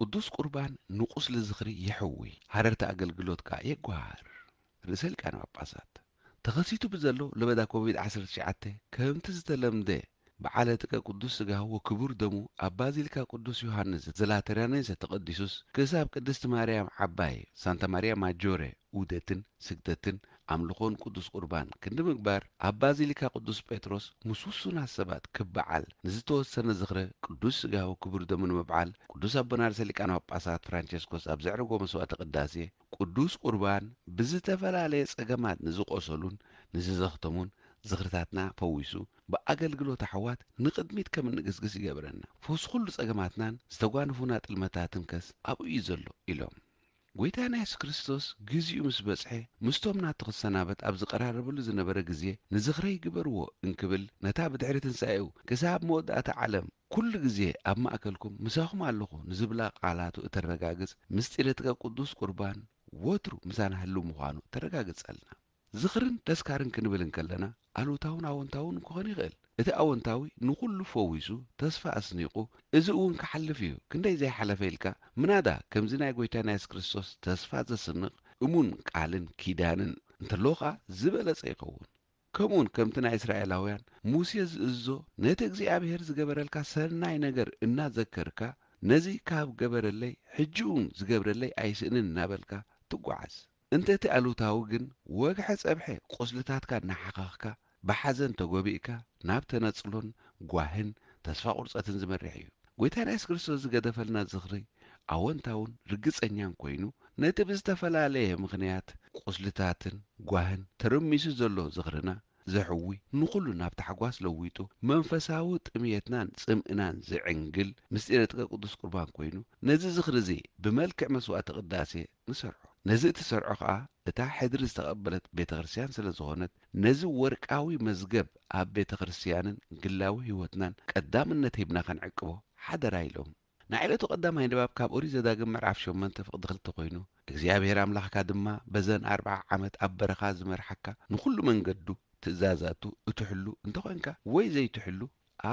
ቅዱስ ቁርባን ንቁስሊ ዝኽሪ የሕዊ፣ ሃረርቲ ኣገልግሎት ከኣ የጓሃህር። ርእሰ ሊቃነ ጳጳሳት ተኸሲቱ ብዘሎ ለበዳ ኮቪድ ዓሰርተ ትሽዓተ ከምቲ ዝተለምደ በዓለ ጥቀ ቅዱስ ስጋሁ ወክቡር ደሙ ኣብ ባዚሊካ ቅዱስ ዮሃንስ ዘላተራኔሰ ተቐዲሱስ ክሳብ ቅድስቲ ማርያም ዓባይ ሳንታ ማርያ ማጆረ ዑደትን ስግደትን ኣምልኾን ቅዱስ ቁርባን ክንዲ ምግባር ኣብ ባዚሊካ ቅዱስ ጴጥሮስ ምስ ውሱናት ሰባት ክበዓል ንዝተወሰነ ዝኽረ ቅዱስ ስጋሁ ክቡር ደሙ ንምብዓል ቅዱስ ኣቦና ርእሰ ሊቃነ ጳጳሳት ፍራንቸስኮስ ኣብ ዘዕረጎ መስዋዕተ ቅዳሴ ቅዱስ ቁርባን ብዝተፈላለየ ጸገማት ንዝቆሰሉን ንዝዘኽተሙን ዝኽርታትና ፈዊሱ ብኣገልግሎት ኣሕዋት ንቕድሚት ከም እንግስግስ ይገብረና። ፈውሲ ኩሉ ጸገማትናን ዝተጓንፉና ጥልመታትን ከስ ኣብኡ እዩ ዘሎ ኢሎም። ጎይታና የሱስ ክርስቶስ ግዜኡ ምስ በጽሐ ምስቶም ናቱ ክሰናበት ኣብ ዝቐራረበሉ ዝነበረ ግዜ ንዝኽረይ ግበርዎ እንክብል ነታ ብድሕሪ ትንሳኤኡ ክሳብ መወዳእታ ዓለም ኩሉ ግዜ ኣብ ማእከልኩም ምሳኹም ኣለኹ ንዝብላ ቃላቱ እተረጋግጽ ምስጢረ ጥቀ ቅዱስ ቁርባን ወትሩ ምሳና ህልው ምዃኑ ተረጋግጸልና። ዝኽርን ተስካርን ክንብል እንከለና ኣሉታውን ኣወንታውን ክኾን ይኽእል። እቲ ኣወንታዊ ንኹሉ ፈዊሱ ተስፋ ኣስኒቑ እዚ እውን ክሓልፍ እዩ ክንደይ ዘይሓለፈ ኢልካ ምናዳ ከምዚ ናይ ጎይታና የሱስ ክርስቶስ ተስፋ ዘስንቕ እሙን ቃልን ኪዳንን እንተሎ ኸኣ ዝበለጸ ይኸውን። ከምኡውን ከምቲ ናይ እስራኤላውያን ሙሴ ዝእዝዞ ነቲ እግዚኣብሔር ዝገበረልካ ሰናይ ነገር እናዘከርካ ነዚ ካብ ገበረለይ ሕጂ እውን ዝገብረለይ ኣይስእንን እናበልካ ትጓዓዝ። እንተ እቲ ኣሉታዊ ግን ወግሐ ጸብሐ ቁስልታትካ እናሓኸኽካ ብሓዘን ተጎቢእካ ናብ ተነጽሎን ጓህን ተስፋ ቁርጸትን ዝመርሕ እዩ። ጎይታና የሱስ ክርስቶስ ዝገደፈልና ዝኽሪ ኣወንታውን ርግጸኛን ኮይኑ ነቲ ብዝተፈላለየ ምኽንያት ቁስልታትን ጓህን ተረሚሱ ዘሎ ዝኽርና ዘሕዊ ንኹሉ ናብ ታሕጓስ ለዊጡ መንፈሳዊ ጥምየትናን ጽምእናን ዝዕንግል ምስጢረ ጥቀ ቅዱስ ቁርባን ኮይኑ ነዚ ዝኽሪ እዚ ብመልክዕ መስዋዕቲ ቅዳሴ ንሰርዖ። ነዚ እትሰርዖ ኸኣ እታ ሕድሪ ዝተቐበለት ቤተ ክርስቲያን ስለ ዝኾነት ነዚ ወርቃዊ መዝገብ ኣብ ቤተ ክርስቲያንን ግላዊ ህይወትናን ቀዳምነት ሂብና ከንዕቅቦ ሓደራ ኢሎም። ናይ ዕለቱ ቀዳማይ ንባብ ካብ ኦሪት ዘዳግም ምዕራፍ ሸሞንተ ፍቕዲ ክልተ ኮይኑ እግዚኣብሔር ኣምላኽካ ድማ በዘን ኣርብዓ ዓመት ኣብ በረኻ ዝመርሓካ ንኹሉ መንገዱ ትእዛዛቱ እትሕሉ እንተኾንካ ወይ ዘይትሕሉ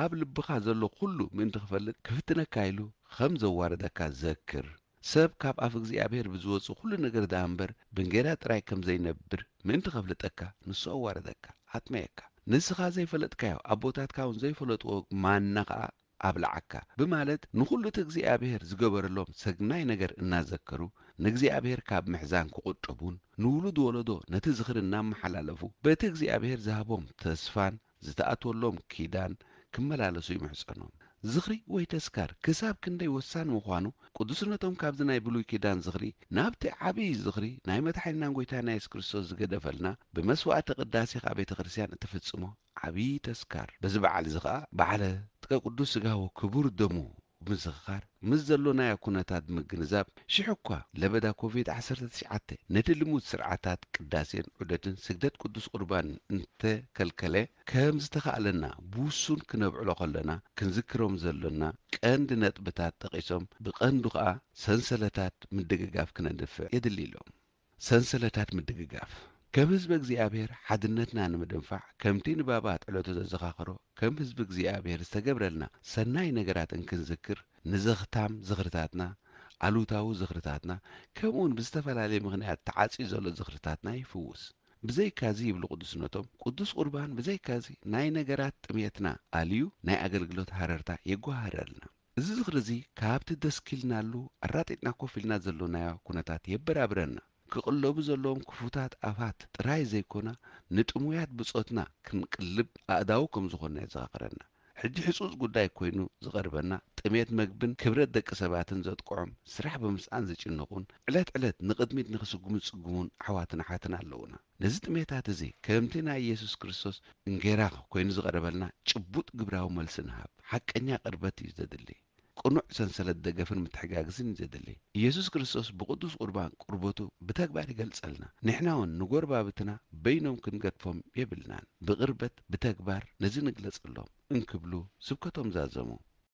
ኣብ ልብኻ ዘሎ ኩሉ ምእንቲ ክፈልጥ ክፍትነካ ኢሉ ከም ዘዋረደካ ዘክር። ሰብ ካብ ኣፍ እግዚኣብሔር ብዝወጽእ ኩሉ ነገር ደኣ እምበር ብእንጌራ ጥራይ ከም ዘይነብር ምእንቲ ከፍልጠካ ንሱ ኣዋረደካ፣ ኣጥመየካ። ንስኻ ዘይፈለጥካዮ ኣቦታትካ እውን ዘይፈለጥዎ ማና ኸኣ ኣብልዓካ ብማለት ንኹሉ እቲ እግዚኣብሔር ዝገበረሎም ሰግናይ ነገር እናዘከሩ ንእግዚኣብሔር ካብ ምሕዛን ክቑጠቡን ንውሉድ ወለዶ ነቲ ዝኽሪ እናመሓላለፉ በቲ እግዚኣብሔር ዝሃቦም ተስፋን ዝተኣትወሎም ኪዳን ክመላለሱ ይምሕጸኖም። ዝኽሪ ወይ ተስካር ክሳብ ክንደይ ወሳኒ ምዃኑ ቅዱስነቶም ካብዚ ናይ ብሉይ ኪዳን ዝኽሪ ናብቲ ዓብዪ ዝኽሪ ናይ መድሓኒናን ጎይታና የሱስ ክርስቶስ ዝገደፈልና ብመስዋዕቲ ቅዳሴ ከኣ ቤተ ክርስቲያን እትፍጽሞ ዓብዪ ተስካር በዚ በዓል እዚ ኸኣ በዓለ ጥቀ ቅዱስ ስጋሁ ክቡር ደሙ ብምዝኽኻር ምስ ዘሎናዮ ኩነታት ብምግንዛብ ሽሕ እኳ ለበዳ ኮቪድ ዓሰርተ ትሽዓተ ነቲ ልሙድ ስርዓታት ቅዳሴን ዑደትን ስግደት ቅዱስ ቁርባን እንተከልከለ ከም ዝተኻእለና ብውሱን ክነብዕሎ ከለና ክንዝክሮም ዘሎና ቀንዲ ነጥብታት ጠቒሶም ብቐንዱ ኸኣ ሰንሰለታት ምድግጋፍ ክነድፍዕ የድሊ ኢሎም። ሰንሰለታት ምድግጋፍ ከም ህዝቢ እግዚኣብሔር ሓድነትና ንምድንፋዕ ከምቲ ንባባት ዕለቱ ዘዘኻኸሮ ከም ህዝቢ እግዚኣብሔር ዝተገብረልና ሰናይ ነገራት እንክንዝክር ንዘኽታም ዝኽርታትና ኣሉታዊ ዝኽርታትና ከምኡውን ብዝተፈላለየ ምኽንያት ተዓጽዩ ዘሎ ዝኽርታትና ይፍውስ። ብዘይካዚ ይብሉ ቅዱስነቶም ቅዱስ ቁርባን ብዘይካዚ ናይ ነገራት ጥምየትና ኣልዩ ናይ ኣገልግሎት ሃረርታ የጓሃረልና። እዚ ዝኽሪ እዚ ካብቲ ደስኪልናሉ ኣራጢጥና ኮፍ ኢልና ዘሎናዮ ኩነታት የበራብረና። ክቕለቡ ዘለዎም ክፉታት ኣፋት ጥራይ ዘይኮና ንጥሙያት ብጾትና ክንቅልብ ኣእዳው ከም ዝኾንና የዘኻኽረና። ሕጂ ሕጹጽ ጉዳይ ኮይኑ ዝቐርበና ጥሜት መግብን ክብረት ደቂ ሰባትን ዘጥቅዖም ስራሕ ብምስኣን ዝጭነቑን ዕለት ዕለት ንቕድሚት ንኽስጉሙ ዝጽግሙን ኣሕዋትን ኣሓትን ኣለዉና። ነዚ ጥሜታት እዚ ከምቲ ናይ ኢየሱስ ክርስቶስ እንጌራ ኮይኑ ዝቐረበልና ጭቡጥ ግብራዊ መልሲ ንሃብ። ሓቀኛ ቅርበት እዩ ዘድሊ። ቅኑዕ ሰንሰለት ደገፍን ምትሕጋግዝን እዩ ዘድሊ። ኢየሱስ ክርስቶስ ብቅዱስ ቁርባን ቅርበቱ ብተግባር ይገልጸልና። ንሕና እውን ንጎረባብትና በይኖም ክንገድፎም የብልናን። ብቅርበት ብተግባር ነዚ ንግለጸሎም እንክብሉ ስብከቶም ዛዘሙ።